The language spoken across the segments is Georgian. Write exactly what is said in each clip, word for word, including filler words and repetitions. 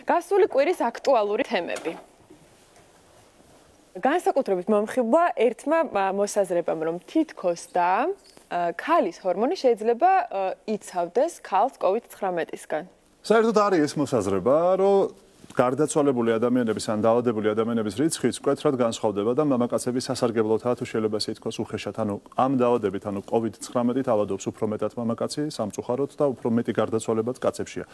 გასული კვირის აქტუალური თემები. განსაკუთრებით მომხიბლა ერთმა მოსაზრებამ, რომ თითქოს და ქალის ჰორმონი შეიძლება იცავდეს ქალს კოვიდ ცხრამეტისგან. საერთოდ არის ეს მოსაზრება, რომ გარდაცვალებული ადამიანების ან დაავადებული ადამიანების რიცხვიც მკვეთრად განსხვავდება და მამაკაცების სასარგებლოთაა თუ შეიძლება ისე ითქვას უხეშად, ანუ ამ დაავადებით, ანუ კოვიდ ცხრამეტით ავადობს უფრო მეტად მამაკაცი სამწუხაროდ და უფრო მეტი გარდაცვალებაც კაცებშია.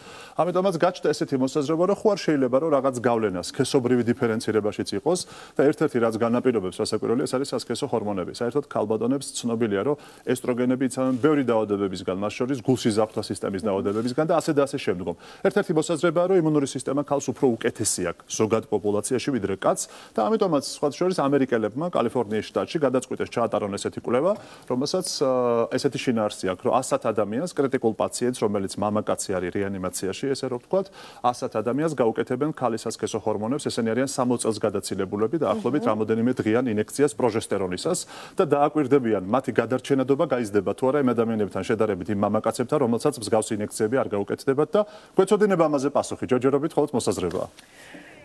ამიტომაც გაჩნდა ესეთი მოსაზრება, რომ ხო არ შეიძლება რომ რაღაც გავლენა სქესობრივი დიფერენცირებაშიც იყოს და ერთ-ერთი რაც განაპირობებს სასაკვირველია, ეს არის სასქესო ჰორმონები. საერთოდ ქალბატონებს ცნობილია, რომ ესტროგენები იცავენ ბევრი დაავადებებისგან, მას შორის გულსიზარღვთა სისტემის დაავადებებისგან და ასე და ასე შემდგომ. ერთ-ერთი მოსაზრებაა, რომ იმუნური სისტემა ქალს უფრო უკეთესი აქვს ზოგად პოპულაციაში ვიდრე კაცს და ამიტომაც სხვა შორის ამერიკელებმა კალიფორნიის შტატში გადაწყვიტეს ჩაატარონ ესეთი კვლევა, რომელსაც ესეთი შინაარსი აქვს, რომ ასად ადამიანს, კრიტიკულ პაციენტს, რომელიც მამაკაცი არის რეანიმაციაში, ესე რომ ვთქვათ, ასად ადამიანს გაუკეთებენ ქალის სასქესო ჰორმონებს, ესენი არიან სამოცი წელს გადაცილებულები და ახლობით რამოდენიმე დღიან ინექციას პროჟესტერონისას და დააკვირდებიან მათი გადარჩენადობა გაიზრდება თუ არა იმ ადამიანებთან შედარებით იმ მამაკაცებთან, რომელსაც მსგავსი ინექციები არ გაუკეთდებათ და გვეცოდინება ამაზე პასუხი, ჯერჯერობით მხოლოდ მოსაზრება.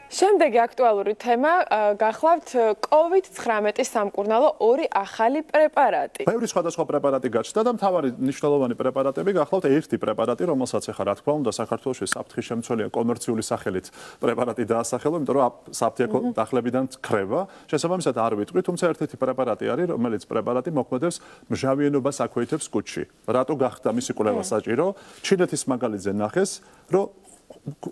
შემდეგი აქტუალური თემა გახლავთ კოვიდ ცხრამეტის სამკურნალო ორი ახალი პრეპარატი. ბევრი სხვადასხვა პრეპარატი გაჩნდა და მთავარი მნიშვნელოვანი პრეპარატები გახლავთ ერთი პრეპარატი, რომელსაც ახლა რა თქმა უნდა საქართველოში საფრთხის შემცველია კომერციული სახელით პრეპარატი დაასახელო, იმიტომ რომ საფრთხე დახლებიდან ქრება. შესაბამისად არ ვიტყვი, თუმცა ერთ-ერთი პრეპარატი არის, რომელიც პრეპარატი მოქმედებს მჟავიანობას აქვეითებს კუჭში. რატო გახდა მისი კვლევა საჭირო? ჩინეთის მაგალითზე ნახეს, რომ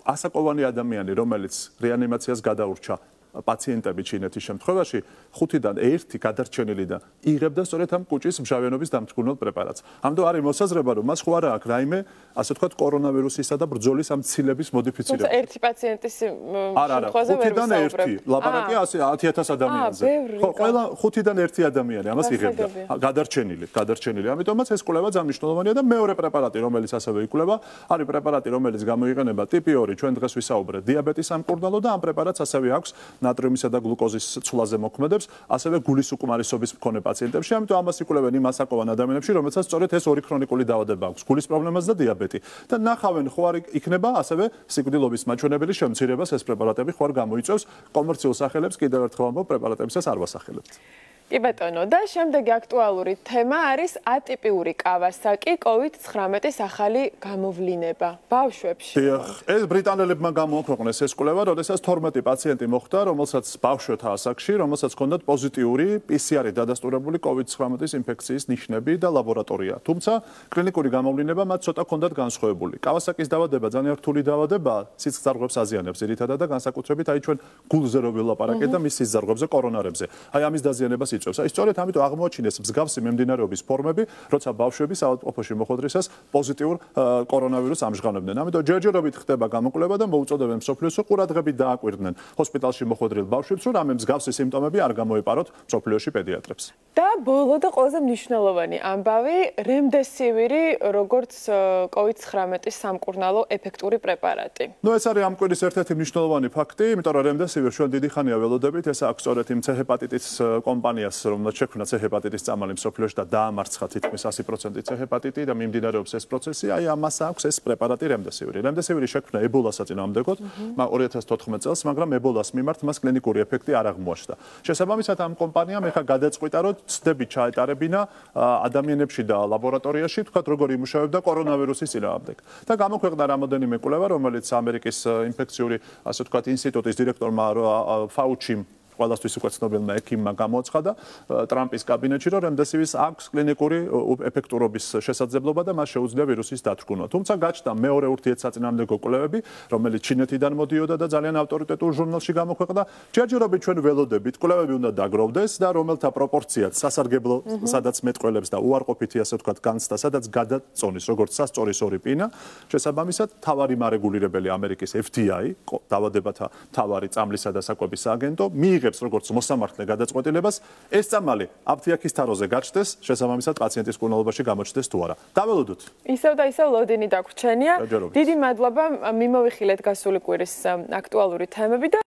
ასაკოვანი ადამიანი, რომელიც რეანიმაციას გადაურჩა პაციენტები ჩინეთის შემთხვევაში, ხუთიდან ერთი გადარჩენილი და იღებდა სწორედ ამ კუჭის მჟავიანობის დამტკბნელ პრეპარატს. ამიტომ არის მოსაზრება, რომ მას ხო არა აქვს რაიმე, ასე ვთქვათ, კორონავირუსისა და ბრძოლის ამ ცილების მოდიფიცირება. თუმცა ერთი პაციენტის შემთხვევაზე ვერ ხუთიდან ერთი ლაპარაკია ასე ათი ათას ადამიანზე. ხო, ყველა ხუთიდან ერთი ადამიანი ამას იღებდა. გადარჩენილი, გადარჩენილი. ამიტომაც ეს კვლევა ძალიან მნიშვნელოვანია და მეორე პრეპარატი, რომელიც ასევე იკვლევა, არის პრეპარატი, რომელიც გამოიყენება ტიპი ორი, ჩვენ დღეს ვისაუბრეთ დიაბეტის სამკურნალო და ამ პრეპარატს ასევე აქვს ნატრიუმისა და გლუკოზის ცვლაზე მოქმედებს, ასევე გულის უკმარისობის მქონე პაციენტებში, ამიტომ ამას იკვლევენ იმ ასაკოვან ადამიანებში, რომელსაც სწორედ ეს ორი ქრონიკული დაავადება აქვს, გულის პრობლემაც და დიაბეტი. და ნახავენ ხო არ იქნება ასევე სიკვდილობის მაჩვენებელი შემცირებას ეს პრეპარატები ხო არ გამოიწვევს კომერციულ სახელებს, კიდევ ერთხელ ამბობ, პრეპარატებისას არ ვასახელებთ. კი ბატონო, და შემდეგი აქტუალური თემა არის ატიპიური კავასაკი კოვიდ ცხრამეტის ახალი გამოვლინება ბავშვებში. დიახ, ეს ბრიტანელებმა გამოაქვეყნეს ეს კვლევა, როდესაც თორმეტი პაციენტი მოხვდა, რომელსაც ბავშვთა ასაკში, რომელსაც ჰქონდათ პოზიტიური პი სი არი დადასტურებული კოვიდ ცხრამეტის ინფექციის ნიშნები და ლაბორატორია. თუმცა კლინიკური გამოვლინება მათ ცოტა ჰქონდათ განსხვავებული. კავასაკის დაავადება ძალიან რთული დაავადებაა, სისხლძარღვებს აზიანებს ძირითადად და განსაკუთრებით აი ჩვენ გულზე რო ვილაპარაკეთ და მის სისხლძარღვებზე, კორონარებზე. აი ამის დაზიანებას იწევს. აი სწორედ ამიტომ აღმოაჩინეს მსგავსი მიმდინარეობის ფორმები, როცა ბავშვები საავადმყოფოში მოხვედრისას პოზიტიურ კორონავირუსს ამჟღავნებდნენ. ამიტომ ჯერჯერობით ხდება გამოკვლევა და მოუწოდებენ მსოფლიოს ყურადღებით დააკვირდნენ ჰოსპიტალში მოხვედრილ ბავშვებს, რომ რამე მსგავსი სიმპტომები არ გამოეპაროთ მსოფლიოში პედიატრებს. და ბოლო და ყველაზე მნიშვნელოვანი ამბავი, რემდესივირი, როგორც კოვიდ ცხრამეტის სამკურნალო ეფექტური პრეპარატი. ნუ ეს არის ამ კვირის ერთ-ერთი მნიშვნელოვანი ფაქტი, იმიტომ რომ რემდესივირს ჩვენ დიდი ხანია ველოდებით, ეს აქვს სწორედ იმ ცე-ჰეპატიტის კომპანიას, რომელსაც შექმნა ცე-ჰეპატიტის წამალი მსოფლიოში და დაამარცხა თითქმის ასი პროცენტი ცე-ჰეპატიტი და მიმდინარეობს ეს პროცესი, აი ამას აქვს ეს პრეპარატი რემდესივირი. რემდესივირი შექმნა ებოლას საწინააღმდეგოდ ორი ათას თოთხმეტ წელს, მაგრამ ებოლას მიმართ მას კლინიკური ეფექტი არ აღმოაჩნდა. შესაბამისად ამ კომპანიამ ეხლა გადაწყვიტა, რომ ცდები ჩაეტარებინა ადამიანებში და ლაბორატორიაში, თქვათ როგორ იმუშავებდა კორონავირუსის წინააღმდეგ. და გამოქვეყნა რამოდენიმე კვლევა, რომელიც ამერიკის ინფექციური, ასე ვთქვათ, ინსტიტუტის დირექტორმა ფაუჩიმ ყველასთვის უკვე ცნობილმა ექიმმა გამოაცხადა ტრამპის კაბინეტში, რომ რემდესივირის აქვს კლინიკური ეფექტურობის შესაძლებლობა და მას შეუძლია ვირუსის დათრგუნვა. თუმცა გაჩნდა მეორე ურთიერთსაწინააღმდეგო კვლევები, რომელიც ჩინეთიდან მოდიოდა და ძალიან ავტორიტეტულ ჟურნალში გამოქვეყნდა. ჯერჯერობით ჩვენ ველოდებით, კვლევები უნდა დაგროვდეს და რომელთა პროპორციაც სასარგებლო, სადაც მეტყველებს და უარყოფითი, ასე ვთქვათ, განცდა, სადაც გადაწონის, როგორც სასწორის ორი პინა, შესაბამისად, თავარი მარეგულირებელი ამერიკის ეფ დი აი, დაავადებათა თავარი წამლისა და საკვების სააგენტო, მიიღებს როგორც მოსამართლე გადაწყვეტილებას, ეს წამალი აფთიაქის თაროზე გაჩნდეს, შესაბამისად პაციენტის მკურნალობაში გამოჩნდეს თუ არა. დაველოდოთ. ისევ და ისევ ლოდინი დაგვრჩენია. დიდი მადლობა, მიმოვიხილეთ გასული კვირის აქტუალური თემები და